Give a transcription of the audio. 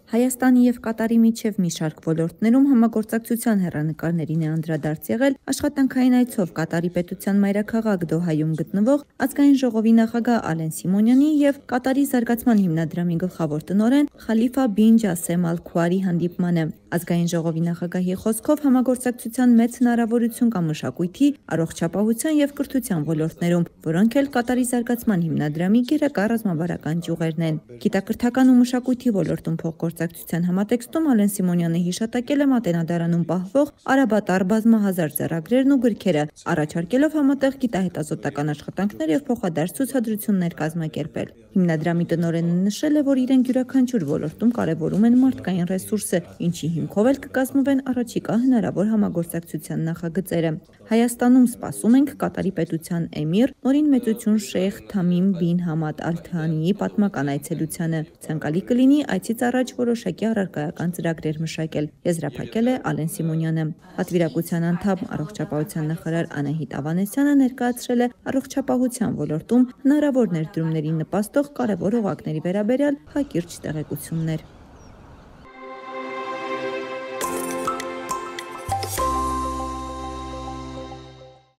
Հայաստանի և Կատարի միջև մի շարք ոլորտներում համագործակցության հեռանկարներին է անդրադարձ եղել աշխատանքային այցով Կատարի պետության մայրաքաղաք Դոհայում գտնվող Ազգային ժողովի նախագահ Ալեն Սիմոնյանի և Կատարի զարգացման հիմնադրամի գլխավոր տնօրեն Խալիֆա բին Ջասեմ Ալ Քուարի հանդիպմանը։ Ազգային ժողովի նախագահի խոսքով համագործակցության մեծ հնարավորություն կա մշակույթի, առողջապահության և կրթության ոլորտներում, որոնք էլ Կատարի զարգացման հիմնադրամի գերակա ռազմավարական ճյուղերն են։ Գիտակրթական ու մշակույթի ոլորտում փոխգործակցության համատեքստում Ալեն Սիմոնյանը հիշատակել է Մատենադարանում պահվող արաբատար բազմահազար ձեռագրերն ու գրքերը, առաջարկելով համատեղ գիտահետազոտական աշխատանքներ և փոխադարձ ցուցադրություններ կազմակերպել։ Հիմնադրամի տնօրենը նշել է, որ իրենք յուրաքանչյուր ոլորտում կարևորում են մարդկային ռեսուրսը, ինչի հիմքով էլ կկազմվեն առաջիկա հնարավոր համագործակցության նախագծերը։ Հայաստանում սպասում ենք Կատարի պետության էմիր Նորին մեծություն Շեյխ Թամիմ բին Համադ Ալ Թանիի պատմական այցելությանը։ Ցանկալի կլինի այցից առաջ որոշակի առարկայական ծրագրեր մշակել, եզրափակել է Ալեն Սիմոնյանը։ Պատվիրակության անդամ առողջապահության նախարար Անահիտ Ավանեսյանը ներկայացրել է առողջապահության ոլորտում հնարավոր ներդրումներին նպաստող կարևոր օղակների վերաբերյալ հակիրճ տեղեկություններ։